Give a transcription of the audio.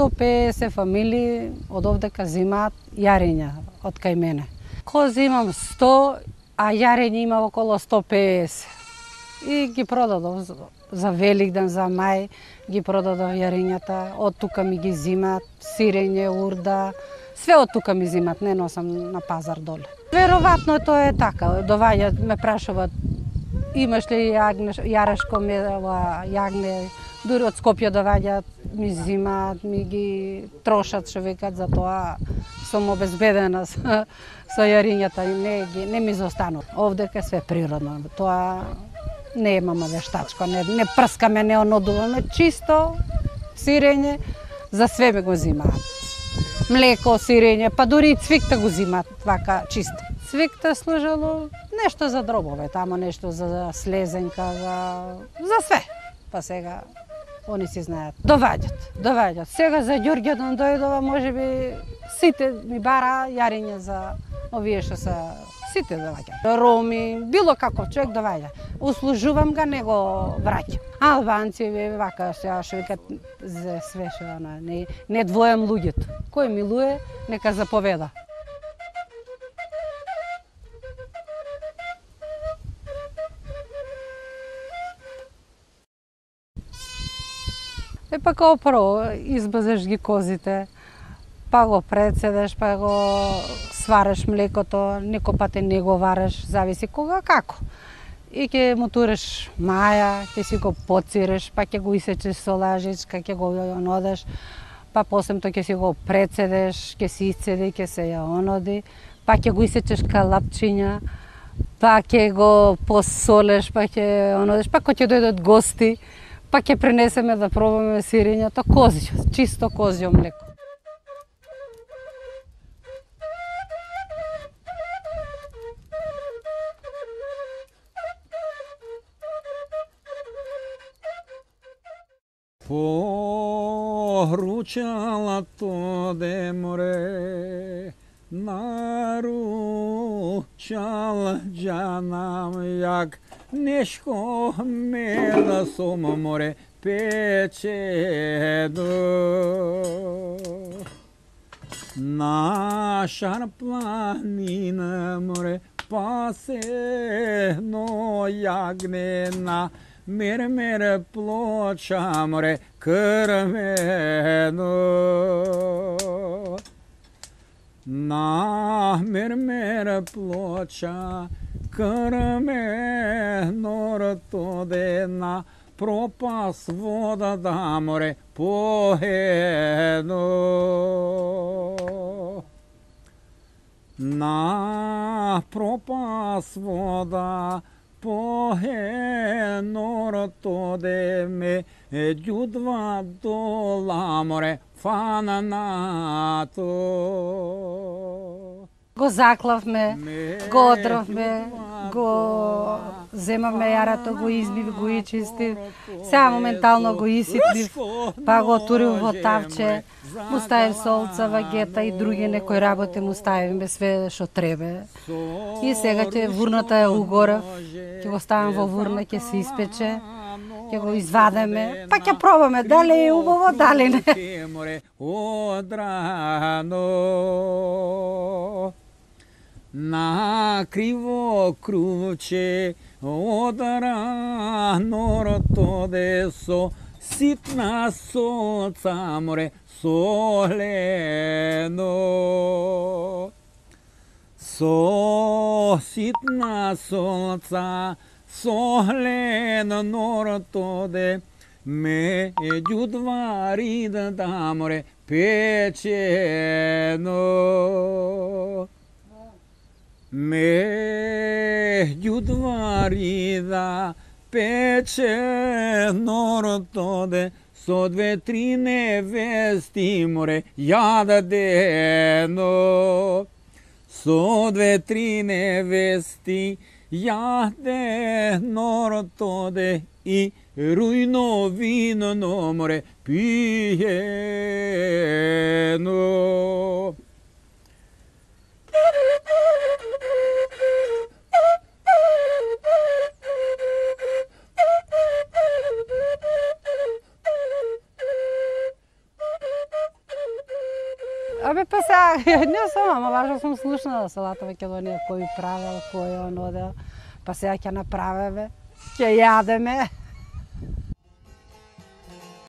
150 фамилии од овдека зимаат јарења од кај мене. Кози имам 100, а јарење има околу 150. И ги продадов за Великден, за мај, ги продадов јарењата, од тука ми ги зимаат, сирење, урда, све од тука ми зимаат, не носам на пазар доле. Веројатно тоа е така, доваѓаат, ме прашуваат, имаш ли јарешко јагне, дури од Скопје доваѓаат, ми зимаат, ми ги трошат, што викат, за тоа сум обезбедена со јарењата, не ми застанува. Овдека све природно, тоа не имаме вештачко, не прскаме, не онодуваме, чисто сирење, за све ме го зимаат. Млеко, сирење, па дури и цвикта го зимаат вака чисто. Цвикта служело нешто за дробове, тамо нешто за слезенка, за све. Па сега они си знаат. Доваѓат. Сега за Ѓурѓевден дојдова, можеби сите ми бара јарење за овие што се сите доваѓаат. Роми, било како човек доваѓа. Услужувам га, не го враќам. Албанци, вака што викат за све што не двојам луѓето. Кој милуе, нека заповеда. Па као прво, избазеш ги козите, па го прецедеш, па го свареш млекото, некој пат не го вареш, зависи кога како. И ќе му туреш маја, ќе си го поциреш, па ќе го исечеш со лажичка, ќе го онодеш, па после тоа ќе си го прецедеш, ќе си исцеди, ќе се ја оноди, па ќе го исечеш калапчиња, па ќе го посолеш, па ќе онодеш, па кога ќе дојдат гости, па ќе пренесеме да пробаме сирењето, козјо, чисто козјо млеко. Поручала то де море, наручала џанам јак, нешко мела сом море печеду. Нашар планина море пасено јагнена, Мер плоча море крвено. На мер плоча крвено тодена, пропас вода да море поедно. На пропас вода поедно тоде ме ѓудва дола море фананато. Го заклавме, го одровме, го земаме јарато, го избив, го ичистив, сега моментално го исиплив, па го турив во тавче, му ставив солца, вагета и други некои работи му ставиме све што требе. И сега ќе вурната ја угорев, ќе го ставам во вурна, ќе се испече, ќе го извадеме, па ќе пробаме дали е убаво, дали не. На криво круче одрано тоде со ситна солца море солено. Со ситна солца солено тоде ме ѓудва рида да море печено. Ме ѓудва рида печено тоде, со 2-3 невести море јадено. Со 2-3 невести јадено тоде и рујно вино море пиено. Абе, па сега, не сум, ама важно сум слушнала салата Македонија, кој правел, кој он одел. Па сега ќе направиме, ќе јадеме.